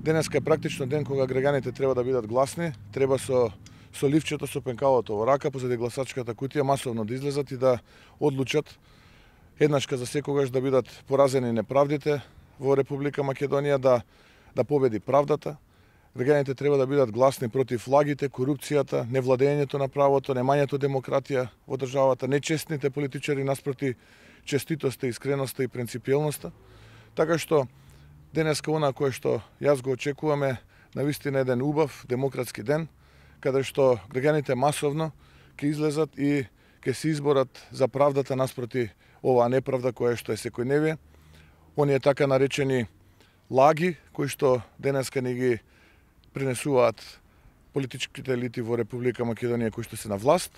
Денеска е практично ден кога граѓаните треба да бидат гласни, треба со ливчето, со пенкалото во рака, позади гласачката кутија масовно да излезат и да одлучат еднашка за секогаш да бидат поразени неправдите во Република Македонија, да победи правдата. Граѓаните треба да бидат гласни против лагите, корупцијата, невладењето на правото, немањето демократија во државата, нечестните политичари наспроти честитоста, искреноста и принципиелноста. Така што денеска она кое што јас го очекуваме навистина еден убав демократски ден, каде што граѓаните масовно ќе излезат и ќе се изборат за правдата наспроти оваа неправда која што е секојдневие. Оние така наречени лаги кои што денеска ни ги пренесуваат политичките елити во Република Македонија кои што се на власт.